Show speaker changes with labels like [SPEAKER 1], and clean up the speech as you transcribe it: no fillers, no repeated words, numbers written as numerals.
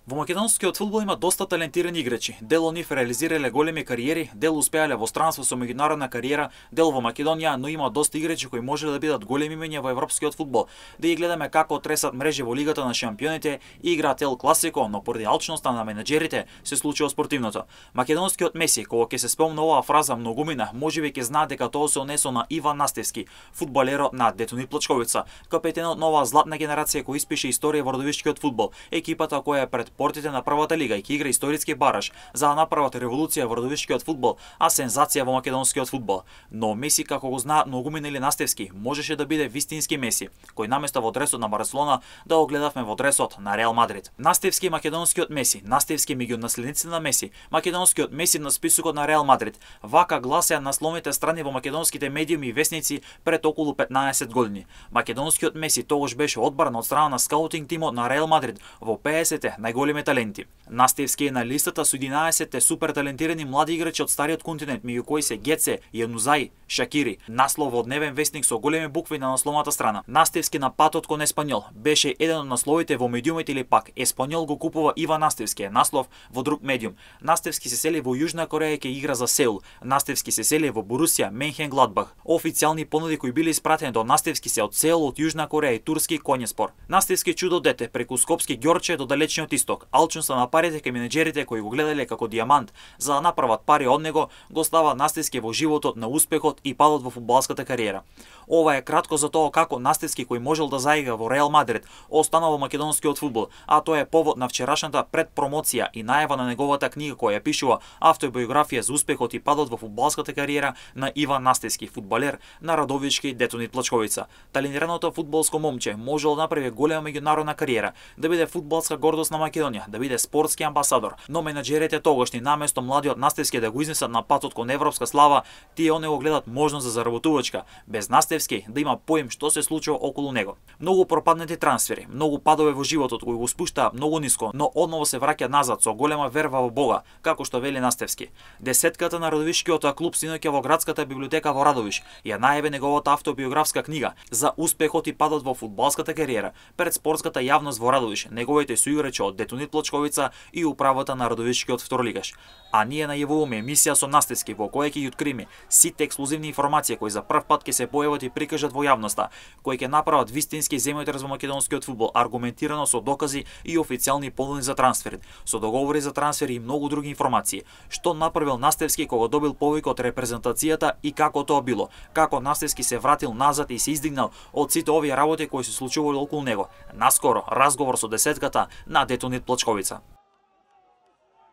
[SPEAKER 1] Во македонскиот фудбал има доста талентирани играчи. Дел од нив реализирале големи кариери, дел успеале во странство со меѓународна кариера, дел во Македонија, но има доста играчи кои можеле да бидат големи имења во европскиот фудбал. Да ги гледаме како тресат мрежи во Лигата на шампионите и играат Ел Класико, но поради алчноста на менаџерите се случува спортивното. Македонскиот Меси, кога ќе се спомне оваа фраза многумина, можеби ќе знаат дека тоа се однесува на Иван Настевски, фудбалерот на Детонит Плачковица, капетенот на оваа златна генерација кој испише историја во родовишкиот фудбал, екипата која е пред портите на првата лига и ќе игра историски бараж за да направат револуција во родовишкиот фудбал, а сензација во македонскиот фудбал. Но Меси, како го знаат многумина или Настевски, можеше да биде вистински Меси, кој наместо во дресот на Барселона да го гледавме во дресот на Реал Мадрид. Настевски македонскиот Меси, Настевски меѓу наследниците на Меси, македонскиот Меси на списокот на Реал Мадрид. Вака гласеа насловните страни во македонските медиуми и весници пред околу 15 години. Македонскиот Меси тогаш беше одбран од страна на скаутинг тимот на Реал Мадрид во 50-те најголеми таленти. Настевски е на листата со 11 супер талентирани млади играчи од стариот континент, меѓу кои се Геце, Јанузаи, Шакири. Наслов од дневен весник со големи букви на насловната страна. Настевски на патот кон Еспанјол беше еден од насловите во медиумите или пак Еспанјол го купува Иван Настевски, наслов во друг медиум. Настевски се сели во Јужна Кореја и ќе игра за Сеул. Настевски се сели во Борусија Менхенгладбах. Официјални понуди кои биле испратени до Настевски се од Сеул, од Јужна Кореја и турски Конјеспор. Настевски чудо дете преку скопски Ѓорче до далечниот исток. Алчноста на парите кај менеџерите кои го гледале како дијамант за да направат пари од него, го става Настевски во животот на успехот и падот во фудбалската кариера. Ова е кратко за тоа како Настевски, кој можел да заигра во Реал Мадрид, останал во македонскиот фудбал, а тоа е повод на вчерашната предпромоција и најава на неговата книга која пишува автобиографија за успехот и падот во фудбалската кариера на Иван Настевски, фудбалер на Радовички Детонит Плачковица. Талентираното фудбалско момче можел да направи голема меѓународна кариера, да биде фудбалска гордост на Македонија, да биде спортски амбасадор, но менаџерите тогашни наместо младиот Настевски да го изнесат на патот кон европска слава, тие он го гледат можност за заработувачка, без Настевски да има поим што се случува околу него. Многу пропаднати трансфери, многу падове во животот кои го спуштаа многу ниско, но одново се враќа назад со голема верва во Бога, како што вели Настевски. Десетката на Радовишкиот клуб синоќа во градската библиотека во Радовиш ја најави неговата автобиографска книга за успехот и падот во фудбалската кариера пред спортската јавност во Радовиш, неговите суиграчи од Детонит Плачковица и управата на Радовишкиот второлигаш. А ние најавуваме емисија со Настевски во која ќе ги откриме сите ексклузивни информации кои за прв пат ќе се појават и прикажат во јавноста, кои ќе направат вистински земјотрес во македонскиот фудбал, аргументирано со докази и официјални понуди за трансфери, со договори за трансфери и многу други информации. Што направил Настевски кога добил повик од репрезентацијата и како тоа било, како Настевски се вратил назад и се издигнал од сите овие работи кои се случувале околу него. Наскоро разговор со десетката на Детонит Плачковица.